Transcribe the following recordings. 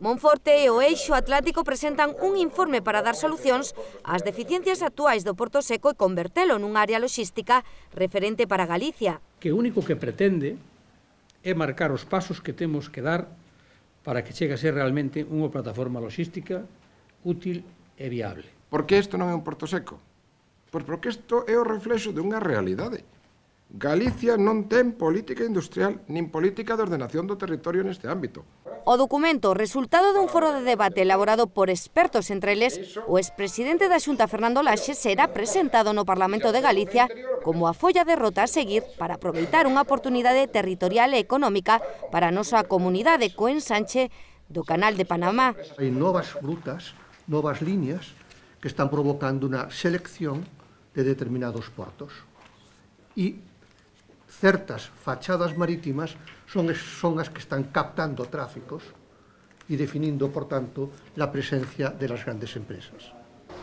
Monforte e o Eixo Atlántico presentan un informe para dar solucións ás deficiencias actuais do Porto Seco e convertelo nunha área logística referente para Galicia. Que o único que pretende é marcar os pasos que temos que dar para que chegue a ser realmente unha plataforma logística útil e viable. Por que isto non é un Porto Seco? Pois porque isto é o reflexo de unha realidade. Galicia non ten política industrial nin política de ordenación do territorio neste ámbito. O documento, resultado dun foro de debate elaborado por expertos, entre eles o expresidente da Xunta Fernando Laxe, será presentado no Parlamento de Galicia como a folla de rota a seguir para aproveitar unha oportunidade territorial e económica para a nosa comunidade co ensanche do Canal de Panamá. Hai novas rutas, novas líneas que están provocando unha selección de determinados portos. E certas fachadas marítimas son as que están captando tráficos e definindo, por tanto, la presencia de las grandes empresas.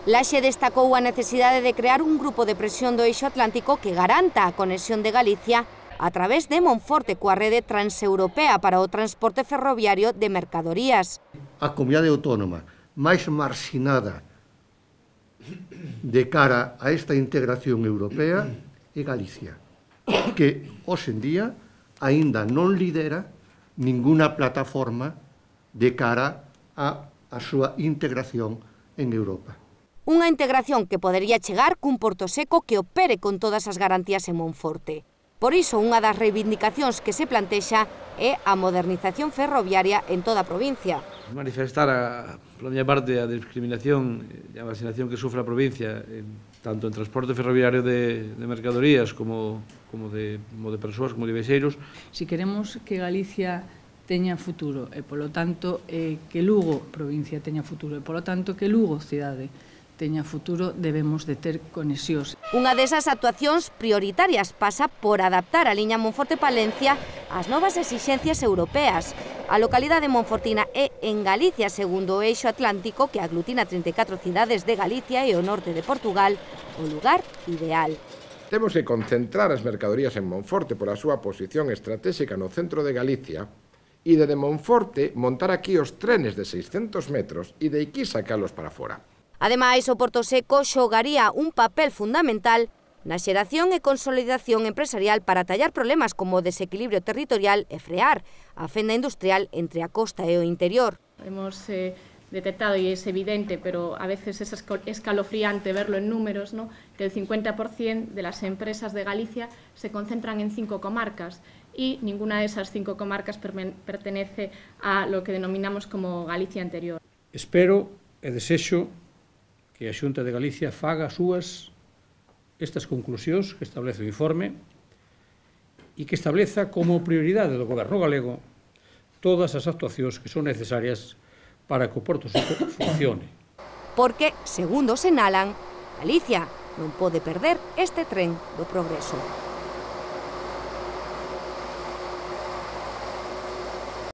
Laxe destacou a necesidade de crear un grupo de presión do Eixo Atlántico que garanta a conexión de Galicia a través de Monforte coa rede transeuropea para o transporte ferroviario de mercadorías. A comunidade autónoma máis marxinada de cara a esta integración europea é Galicia, que hoxe en día aínda non lidera ninguna plataforma de cara a súa integración en Europa. Unha integración que podería chegar cun Porto Seco que opere con todas as garantías en Monforte. Por iso, unha das reivindicacións que se plantexa é a modernización ferroviaria en toda a provincia. Manifestar, pola miña parte, a discriminación e a vacinación que sufre a provincia, tanto en transporte ferroviario de mercadorías como de persoas, como de viaxeiros. Si queremos que Galicia teña futuro e, polo tanto, que Lugo, provincia, teña futuro e, polo tanto, que Lugo, cidade, teña futuro, debemos de ter conexións. Unha desas actuacións prioritarias pasa por adaptar a liña Monforte-Palencia ás novas exixencias europeas. A localidade monfortina é en Galicia, segundo o Eixo Atlántico, que aglutina 34 cidades de Galicia e o norte de Portugal, o lugar ideal. Temos que concentrar as mercadorías en Monforte pola súa posición estratégica no centro de Galicia e de Monforte montar aquí os trenes de 600 metros e de aquí sacalos para fora. Ademais, o Porto Seco xogaría un papel fundamental na xeración e consolidación empresarial para tallar problemas como o desequilibrio territorial e frear a fenda industrial entre a costa e o interior. Hemos detectado, y es evidente, pero a veces es escalofriante verlo en números, ¿no?, que el 50% de las empresas de Galicia se concentran en 5 comarcas y ninguna de esas 5 comarcas pertenece a lo que denominamos como Galicia Interior. Espero e desexo que a Xunta de Galicia faga estas conclusións que establece o informe e que estableza como prioridade do Goberno galego todas as actuacións que son necesarias para que o Porto Seco funcione. Porque, segundo señalan, Galicia non pode perder este tren do progreso.